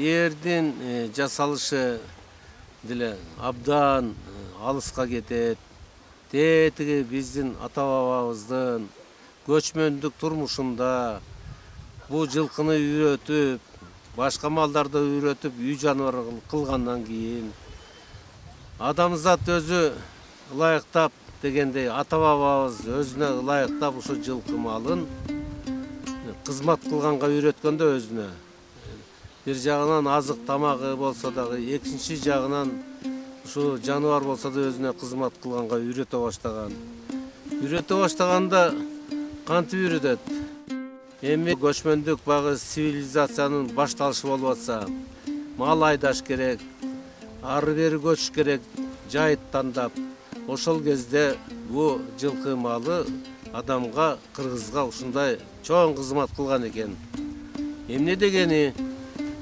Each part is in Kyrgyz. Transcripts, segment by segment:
эрдин жасалышы деле абдан алыска кетет. Тетиги биздин ата бабабыздын көчмөндүк турмушунда бул жылкыны үйрөтүп, башка малдарды үйрөтүп, үй жаныбар кылгандан кийин адамзат өзү ылайыктап дегендей ата бабабыз өзүнө ылайыктап ушу жылкы малын кызмат кылганга үйрөткөндө өзүнө бир жагынан азык тамагы болсо дагы, экинчи жагынан ушу жаныбар болсо да өзүнө кызмат кылганга үйрөтө баштаган. Үйрөтө баштаганда кантип үйрөтөт? Эми көчмөндүк багы цивилизациянын башталышы болуп атса, мал айдаш керек, ары бери көчүш керек, жайыт тандап. Ошол кезде бул жылкы малы адамга, кыргызга ушундай чоң кызмат кылган экен. Эмне дегени?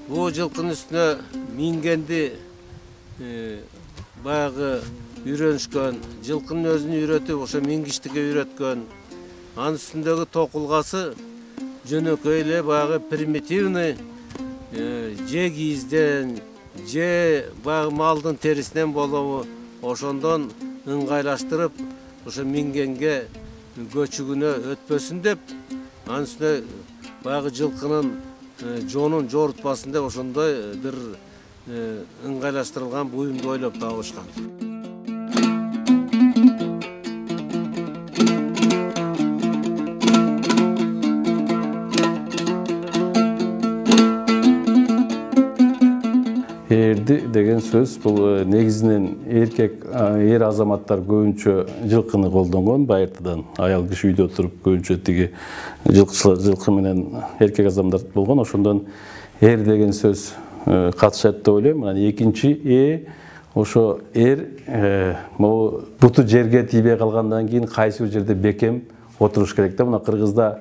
Бул жылкынын үстүнө мингенди баягы үйрөнүшкөн, жылкынын өзүн үйрөтүп, ошо мингиштикке үйрөткөн. Анын үстүндөгү токулгасы жөнөкөй эле баягы примитивный же кийизден, же баягы малдын терисинен болобу, ошондон ыңгайлаштырып, ошо мингенге көчүгүнө өтпөсүн деп, анын үстүнө баягы жылкынын жонун жоорутпасын деп ошондой бир ыңгайлаштырылган буюмду ойлоп табышкан. Эрди деген сөз бул негизинен эр азаматтар көбүнчө жылкыны колдонгон байыртыдан. Аял киши үйдө туруп көбүнчө тиги жылкы менен эркек азаматтар болгон. Ошондон эр деген сөз катышат деп ойлойм. Анан экинчи ошо эр могу буту жерге тийбей калгандан кийин кайсы бир жерде бекем отуруш керек да. Мына Кыргызда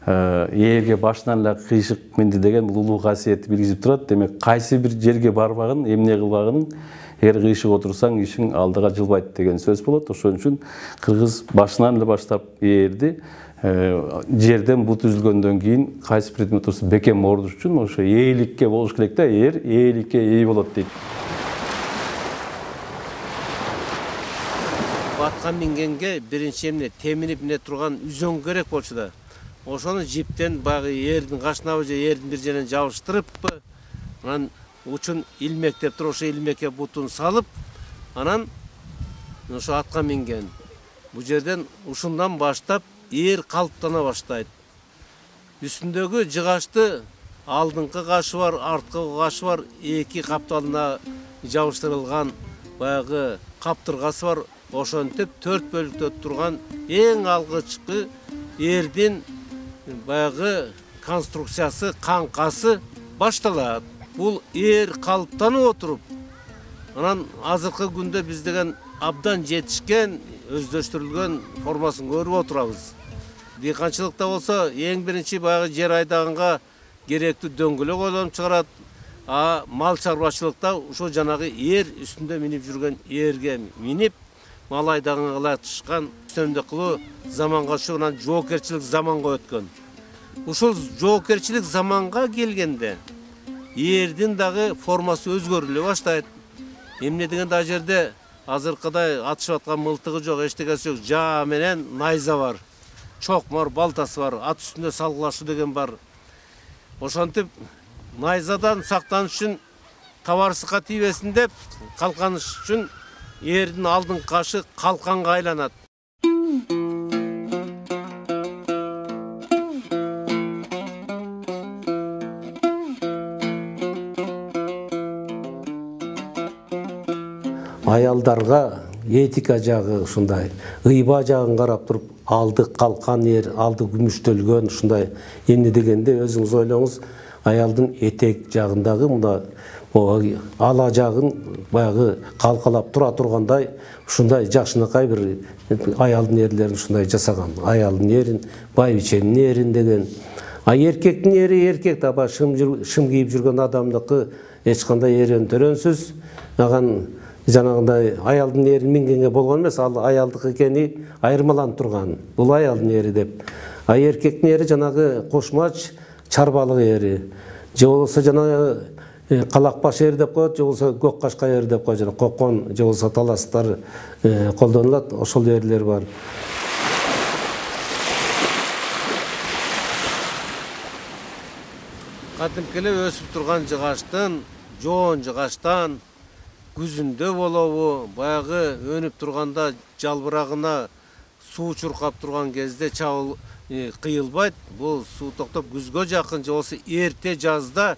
эрге башынан эле кыйшык минди деген бул улуу касиетти билгизип турат. Демек кайсы бир жерге барбагын, эмне кылбагынын эгер кыйшык отурсаң ишиң алдыга жылбайт деген сөз болот. Ошон үчүн кыргыз башынан эле баштап эрди жерден бут үзүлгөндөн кийин кайсы бир отурса бекем ордуш үчүн ошо ээликке болуш керек да. Эр ээликке ээ болот дейт. Атка мингенге биринчи эмне теминип эмне турган үзөң керек болчу да. Ошону жиптен баягы эрдин кашынабы же эрдин бир жеринен жабыштырып, анан учун илмектеп туруп, ошо илмекке бутун салып, анан ошо атка минген. Бул жерден ушундан баштап эр калыптана баштайт. Үстүндөгү жыгачты алдыңкы кашы бар, арткы кашы бар, эки капталына жабыштырылган баягы каптыргасы бар. Ошентип 4 бөлүктө турган эң алгычкы эрдин баягы конструкциясы, каңкасы башталат. Бул эр калыптанып отуруп, анан азыркы күндө биз деген абдан жетишкен, өздөштүрүлгөн формасын көрүп отурабыз. Дыйканчылыкта болсо эң биринчи баягы жер айдаганга керектүү дөңгөлөк ойлонуп чыгарат. А мал чарбачылыкта ушул жанагы эр үстүндө минип жүргөн эрге минип мал айдаганга ылайыкташкан өстөмдүк кылуу заманга ушунан жоопкерчилик заманга өткөн. Ушул жоопкерчилик заманга келгенде эрдин дагы формасы өзгөрүлө баштайт. Эмне дегенде ал жерде азыркыдай атышып аткан мылтыгы жок, эчтекеси жок, жаа менен найза бар. Чокмор балтасы бар, ат үстүндө салгылашуу деген бар. Ошентип найзадан сактаныш үчүн табарсыкка тийбесин деп калканыш үчүн эрдин алдыңкы кашы калканга айланат. Аялдарга этика жагы ушундай, ыйба жагын карап туруп, алды калкан эр, алды күмүштөлгөн ушундай эмне дегенде өзүңүз ойлоңуз, аялдын этек жагындагы мына ала жагын баягы калкалап тура тургандай ушундай жакшынакай бир аялдын эрлерин ушундай жасаган. Аялдын эрин, байбиченин эрин деген. А эркектин эри эркек таба шым кийип жүргөн адамдыкы эч кандай эрен төрөнсүз. Аган жанагындай аялдын эрин мингенге болгон эмес, ал аялдык экени айырмаланып турган. Бул аялдын эри деп. А эркектин эри жанагы кошмач чарбалык эри. Же болбосо жанагы калак баш эр деп коет, же болбосо көк кашка эр деп коет, жана кокон же болбосо таластар колдонулат, ошол эрлер бар. Кадимки эле өсүп турган жыгаштын, жоон жыгаштан күзүндө болобу, баягы өнүп турганда жалбырагына суу чуркап турган кезде чабыл кыйылбайт. Бул суу токтоп күзгө жакын же болбосо эрте жазда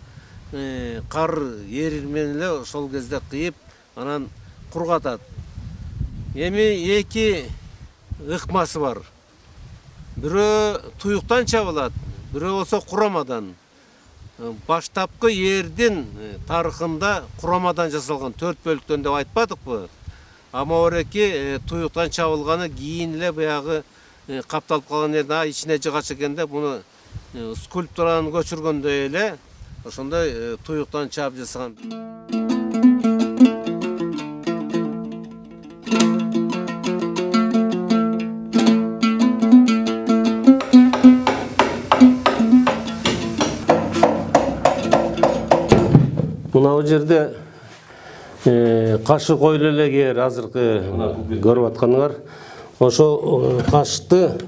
кар эрир менен эле ошол кезде кыйып, анан кургатат. Эми эки ыкмасы бар. Бирөө туюктан чабылат, бирөө болсо курамадан. Баштапкы эрдин тарыхында курамадан жасалган 4 бөлүктөн деп айтпадыкпы? Амаореки туюктан чабылганы кийин эле баягы капталып калган жерде ичине жыгач экен да, буну скульптураны көчүргөндөй эле ошондой туюктан чаап жасаган. Мына жерде кашы койлу эле азыркы көрүп атканыңар. Ошо кашты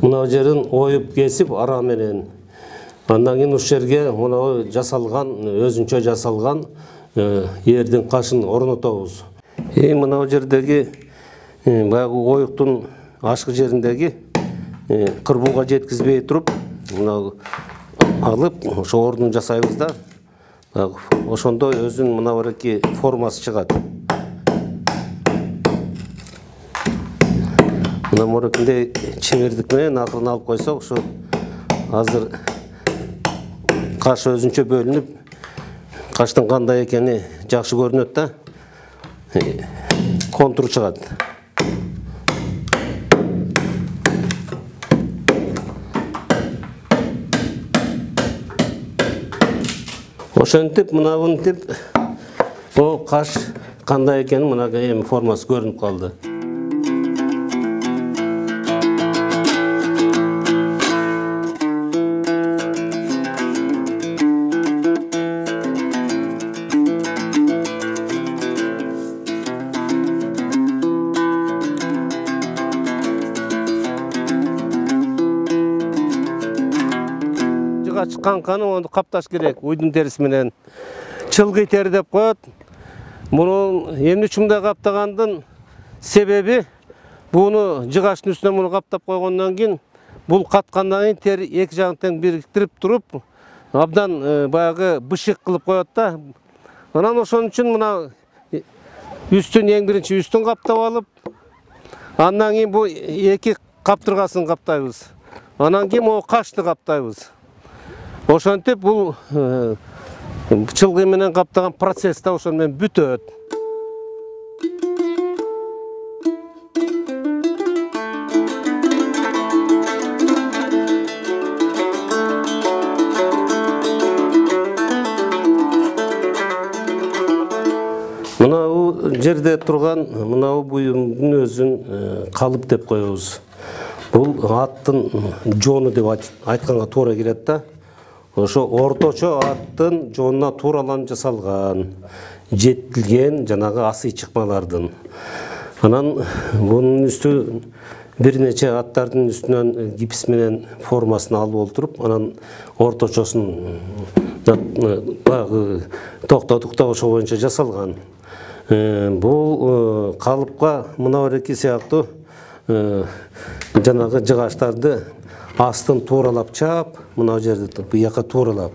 мына жерин оюп кесип ара менен. Андан кийин ушул жерге мына жасалган, өзүнчө жасалган эрдин кашын орнотобуз. Мына жердеги баягы оюктун ашкы жериндеги кырбууга жеткизбей туруп, мына алып ошо ордун жасайбыз да. Ошондо өзүнүн мына бараки формасы чыгат. Мына морекинде чеңирдик менен акырын алып койсок, ушу азыр каш өзүнчө бөлүнүп, каштын кандай экени жакшы көрүнөт да. Контур чыгат. Ошентип, мынабынтип, бул каш кандай экени мына эми формасы көрүнүп калды. Чыккан onu капташ керек, уйдун терisi менен. Чылгый тери деп коет. Муну эмне үчүн мындай каптагандын себеби, буну жыгаштын үстүнө муну каптап койгондон кийин, бул каткандан кийин тери эки жагын тең бириктирип туруп, абдан баягы бышык кылып коет да. Анан ошон үчүн мына үстүн эң биринчи үстүн каптап алып, андан кийин бу эки каптыргасын каптайбыз. Анан кийин могу кашты каптайбыз. Ошентип бул чылгый менен каптаган процесс да ошон менен бүтөт. Мына жерде турган мына буюмдун өзүн калып деп коебуз. Бул аттын жоону деп айтканга туура келет да. Ошо орточо аттын жоонуна туураланып жасалган, жетилген жанагы асый чыкмалардын. Анан бунун үстү бир нече аттардын үстүнөн гипс менен формасын алып олтуруп, анан орточосун баягы токтотук да ошо боюнча жасалган. Бул калыпка мына бареки сыяктуу жанагы жыгаштарды астын тууралап чаап, мына жерде бияка тууралап.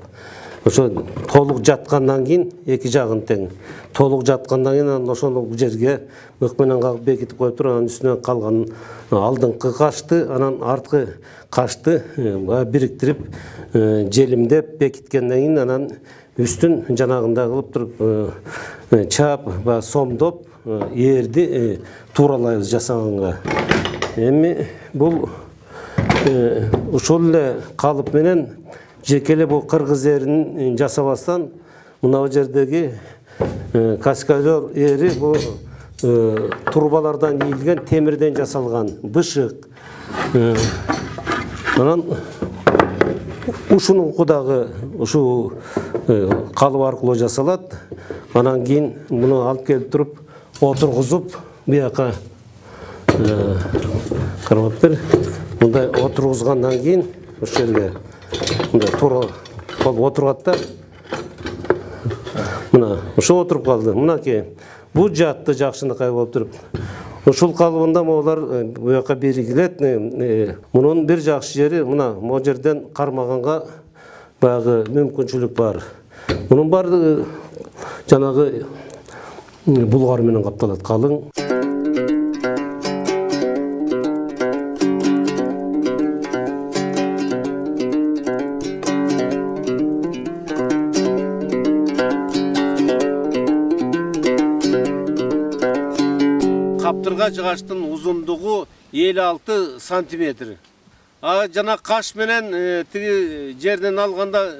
Ошо толук жаткандан кийин эки жагын тең. Толук жаткандан кийин ошол жерге ык менен кагып бекитип коюп туруп, анын үстүнө калган алдыңкы кашты, анан арткы кашты бириктирип, желимдеп бекиткенден кийин анан үстүн жанагындай кылып туруп чаап, сомдоп эрди тууралайбыз жасаганга. Эми бул ушул эле калып менен жеке эле бул кыргыз эрин жасабастан мына жердеги каскадер эри бул турбалардан ийилген темирден жасалган бышык. Анан ушунун дагы ушул калып аркылуу жасалат. Анан кийин муну алып келип туруп отургузуп бияка кармаптыр. Мындай отургузгандан кийин ушул жерге мындай туура болуп отурат да. Мына ушул отуруп калды. Мынакей бул жатты жакшынакай болуп туруп. Ушул калыбында могулар буяка биригилет. Мунун бир жакшы жери мына могу жерден кармаганга баягы мүмкүнчүлүк бар. Мунун баардыгы жанагы булгар менен капталат, калың. Каптырга жыгачтын узундугу 56 сантиметр. Жана каш менен тиги жерден алганда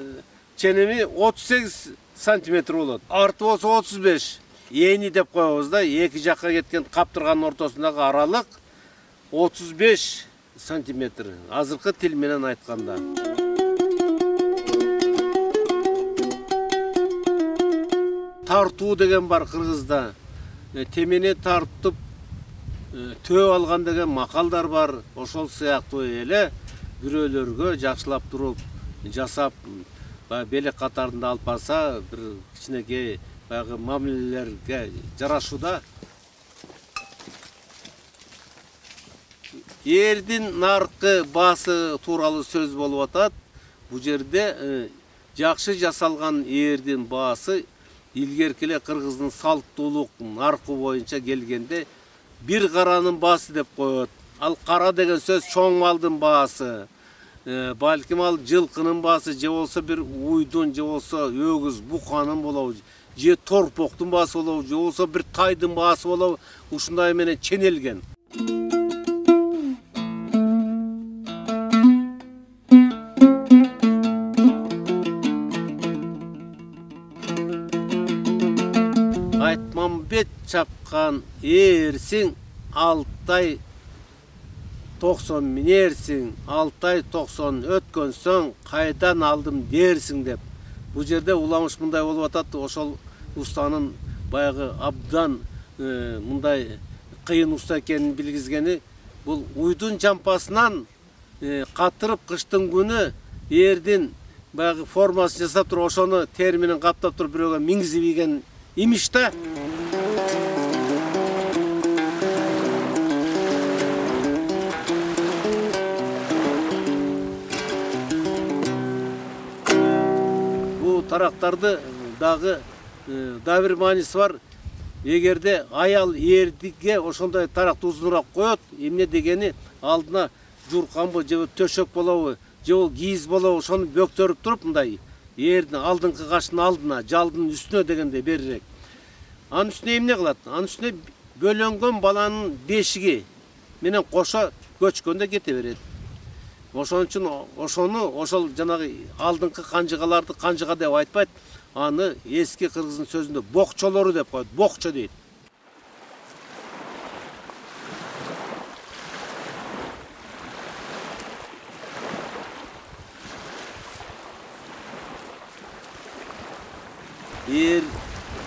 ченеми 38 сантиметр болот. Арты болсо 35. Эни деп коебуз да, эки жакка кеткен каптырганын ортосундагы аралык 35 сантиметр. Азыркы тил менен айтканда. Тартуу деген бар кыргызда. Темени тартып төө алган деген макалдар бар. Ошол сыяктуу эле бирөөлөргө жакшылап туруп жасап белек катарында алып барса бир кичинекей баягы мамилелерге жарашууда. Эрдин наркы баасы тууралуу сөз болуп атат. Бул жерде жакшы жасалган эрдин баасы илгерки эле кыргыздын салттуулук наркы боюнча келгенде бир каранын баасы деп коет. Ал кара деген сөз чоң малдын баасы. Балким ал жылкынын баасы, же болсо бир уйдун, же болсо өгүз, буканын болобу, же торпоктун баасы болобу, же болсо бир тайдын баасы болобу, ушундай менен ченелген. Айтмамбет чапкан эрсиң, Алтай 90 минерсиң, Алтай 90 өткөн соң кайдан алдым дерсиң деп. Бул жерде уламыш мындай болуп атат. Ошол устанын баягы абдан мындай кыйын уста экенин билгизгени, бул уйдун жампасынан катырып кыштын күнү эрдин баягы формасын жасап туруп, ошону тери менен каптап туруп бирөөгө миңзип ийген имиш да. Тарактарды дагы бир мааниси бар. Эгерде аял эрдиге ошондой таракты узунураак коет, эмне дегени алдына журканбы, же төшөк болобу, же бол кийиз болобу, ошону бөктөрүп туруп мындай эрдин алдыңкы каштын алдына, жалдын үстүнө дегенде берирээк. Анын үстүнө эмне кылат? Анын үстүнө бөлөнгөн баланын бешиги менен кошо көчкөндө кете берет. Ошон үчүн ошол жанагы алдыңкы канжыгаларды канжыга деп айтпайт, аны эски кыргыздын сөзүндө бокчолору деп коет, бокчо дейт. Эр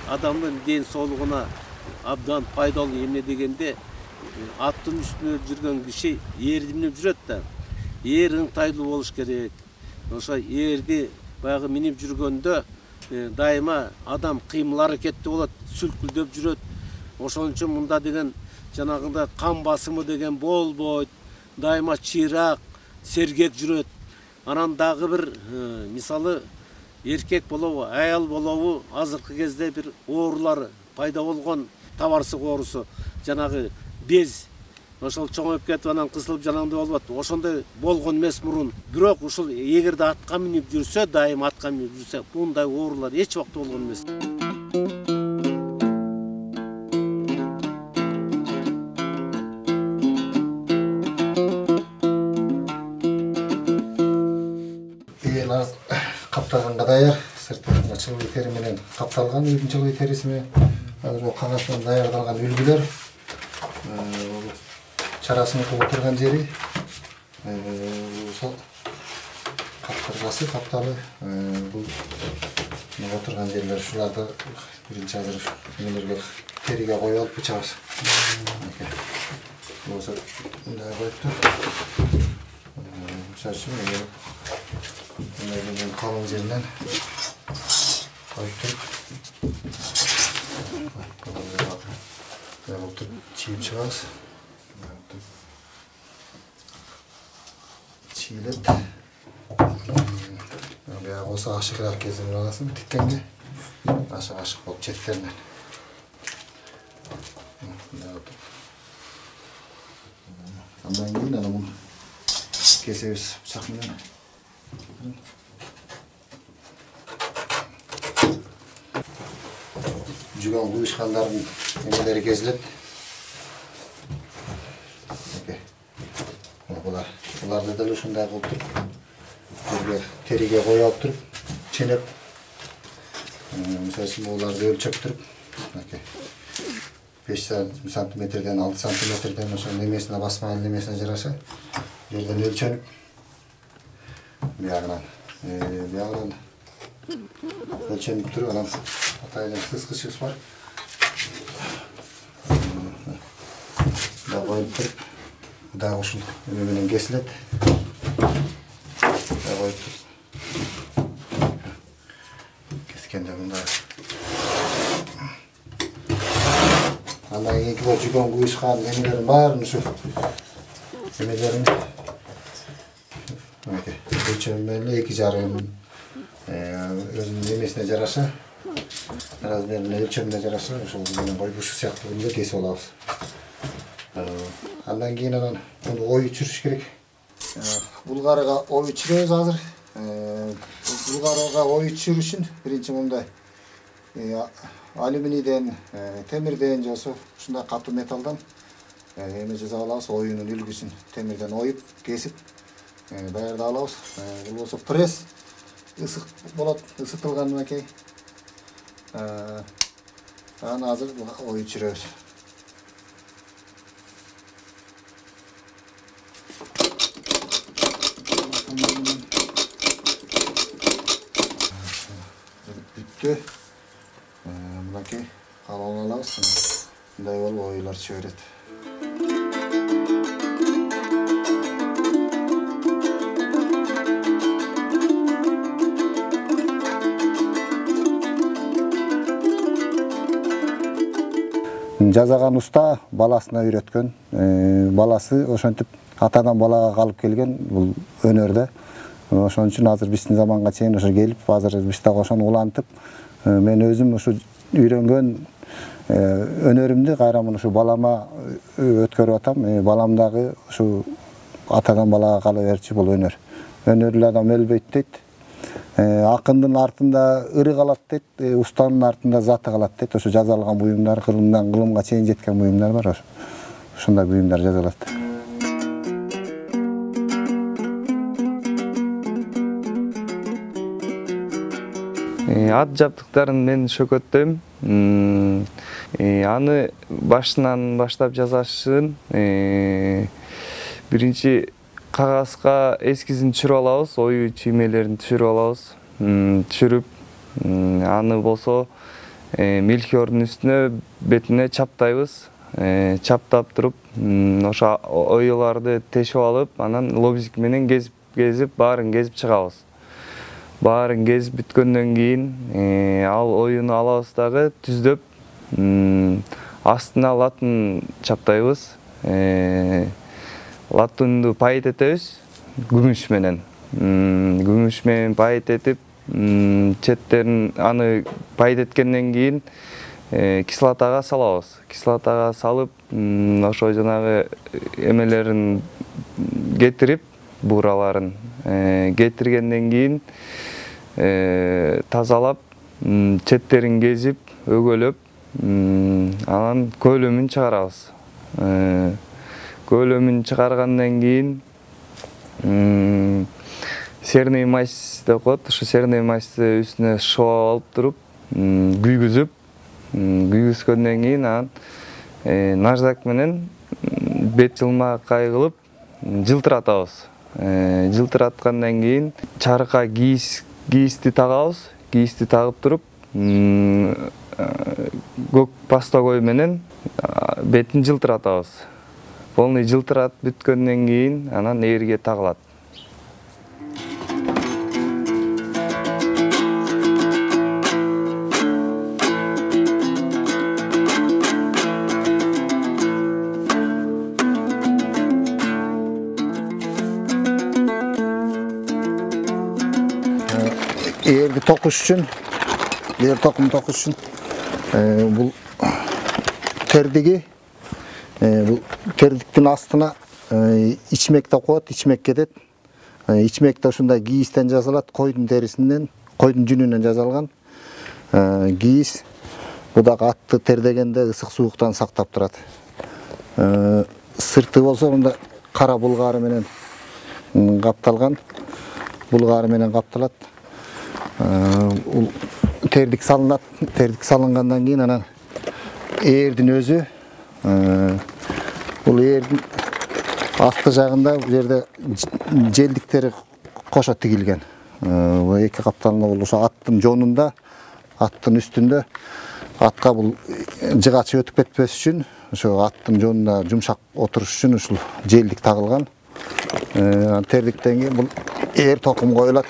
адамдын ден соолугуна абдан пайдалуу. Эмне дегенде аттын үстүнө жүргөн киши эрди минип жүрөт да. Эр ыңтайлуу болуш керек. Ошо эрди баягы минип жүргөндө дайыма адам кыймыл аракетти болот, сүлкүлдөп жүрөт. Ошон үчүн мында деген жанагындай кан басымы деген болбойт. Дайыма чыйраак, сергек жүрөт. Анан дагы бир мисалы эркек болобу, аял болобу, азыркы кезде бир оорулар пайда болгон, табарсык оорусу, жанагы без ошол чоңоюп кетип анан кысылып жанагындай болуп атат. Ошондой болгон эмес мурун. Бирок ушул эгерде атка минип жүрсө, дайым атка минип жүрсө, мындай оорулар эч убакта болгон эмес. Каптаганга даяр, сыртынан чылбый тери менен капталган үйдүн чылбый териси менен азыр кагаздан даярдалган үлгүлөр. Чарасынын кылып турган жери ошол кыргасы тапталы. Бул отурган жерлер ушуларды биринчи азыр эмелерге териге коюп алып бычабыз. Болсо мындай коюптур. Мисалы үчүн мындай калың жеринен коюп туруп чийип чыгабыз. Чийлеп баягы болсо ашыгыраак кезин аласың тиккенге. Ашык болуп четтеринен. Андан кийин аны муну кесебиз бычак менен. Жүгөн куюшкандардын эмелери кезилет. Буларды деле ушундай кылып туруп, териге коюп алып туруп, ченеп, мисалы үчүн буларды өлчөп туруп, 5 сантиметрден 6 сантиметрден ошо немесине басмаган немесине жараша жерден өлчөнүп, биягынан өлчөнүп туруп, анан атайын сыскычыбыз бар. Да коюп туруп, дагы ушул эме менен кесилет. Коюп туруп кескенде мындай. Андан кийинки жүгөн куюшкан эмелердин баарын ушу эмелерин өлчөм менен 2,5 өзүнүн эмесине жараша, размерине өлчөмүнө жараша ошол менен коюп ушул сыяктуу кылып кесип алабыз. Андан кийин анан муну ой чүрүш керек. Булгарыга ой чүрөбүз азыр. Булгарыга ой чүрүш үчүн биринчи мындай алюминийден, темирден же ушундай катуу металлдан эме жасап алабыз. Оюнун үлгүсүн темирден оюп, кесип даярдап алабыз. Бул болсо пресс ысык болот, ысытылгандан кийин. Анан азыр ой чүрөбүз. Бүтү. Мынакей калаң алабыз. Мындай болуп ойлор чыга берет. Жазаган уста баласына үйрөткөн. Баласы ошентип атадан балага калып келген бул өнөрдө. Ошон үчүн азыр биздин заманга чейин ошо келип, азыр биз дагы ошону улантып, мен өзүм ушу үйрөнгөн өнөрүмдү кайрамын ушу балама өткөрүп атам. Балам дагы ушу атадан балага кала берчү бул өнөр. Өнөрлүү адам өлбөйт дейт. Акындын артында ыры калат дейт, устанын артында заты калат дейт. Ошо жазалган буюмдар, кылымдан кылымга чейин жеткен буюмдар бар. Ошондой буюмдар жазалат. Ат жабдыктарын мен шөкөттөйм. Аны башынан баштап жасашын биринчи кагазга эскизин түшүрүп алабыз, ою чиймелерин түшүрүп алабыз. Түшүрүп, аны болсо мельхиордун үстүнө бетине чаптайбыз. Чаптап туруп, ошо оюларды тешип алып, анан лобзик менен кезип, баарын кезип чыгабыз. Баарын кезип бүткөндөн кийин ал оюну алабыз дагы түздөп, астына латын чаптайбыз. Латунду пайыт этебиз күмүш менен. Күмүш менен пайыт этип, четтерин аны пайыт эткенден кийин кислотага салабыз. Кислотага салып, ошо жанагы эмелерин кетирип, буураларын кетиргенден кийин тазалап, четтерин кезип, өгөлөп, анан көлөмүн чыгарабыз. Көлөмүн чыгаргандан кийин серный мазь деп коет. Ошо серный мазьды үстүнө шоп алып туруп, күйгүзгөндөн кийин анан наждак менен бет жылмакай кылып жылтыратабыз. Жылтыраткандан кийин чарыкка кийисти тагабыз. Кийисти тагып туруп, көк пастогой менен бетин жылтыратабыз. Полный жылтыратып бүткөндөн кийин анан ээрге тагылат. Ээрди токуш үчүн, ээр токум токуш үчүн бул тердиги, бул тердиктин астына ичмекте коет, ичмек кетет. Ичмекте ушундай кийистен жасалат, койдун терисинен, койдун жүнүнөн жасалган кийис. Бул дагы атты тердегенде ысык сууктан сактап турат. Сырты болсо мында кара булгары менен капталган. Булгары менен капталат. Тердик салынат. Тердик салынгандан кийин анан ээрдин өзү, бул ээрдин асты жагында бул жерде желдиктери кошо тигилген. Бул эки капталына бул ошо аттын жонунда, аттын үстүндө атка бул жыгачы өтүп кетпес үчүн, ошо аттын жонунда жумшак отуруш үчүн ушул желдик тагылган. Тердиктен кийин бул ээр токум коюлат.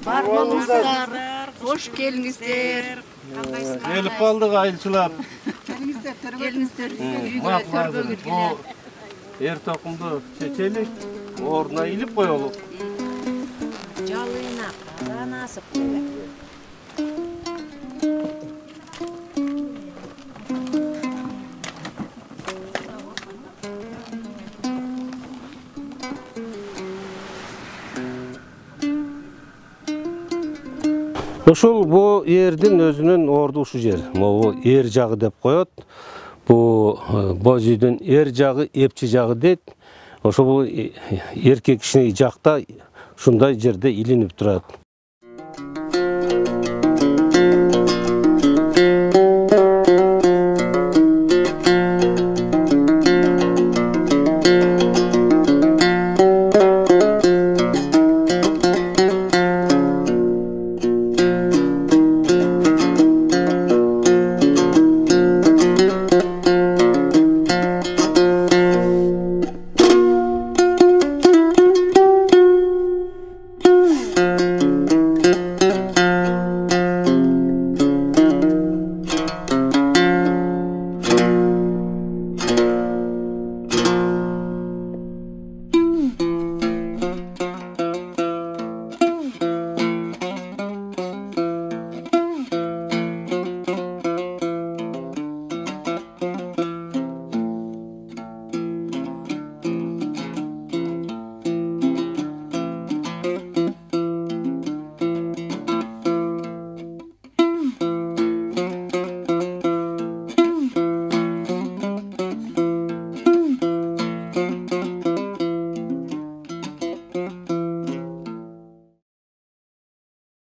Барбаңыздар, хош келиңиздер. Келип калдык айылчылар. Келиңиздер, үйгө төргө Бул эр токумду чечелик, ордуна илип коелук. жалыйна канасып койгон. Ушул бу эрдин өзүнүн орду ушул жер. Могу эр жагы деп коет. Бу боз үйдүн эр жагы, эпчи жагы дейт. Ошо бул эркек кишинеги жакта ушундай жерде илинип турат.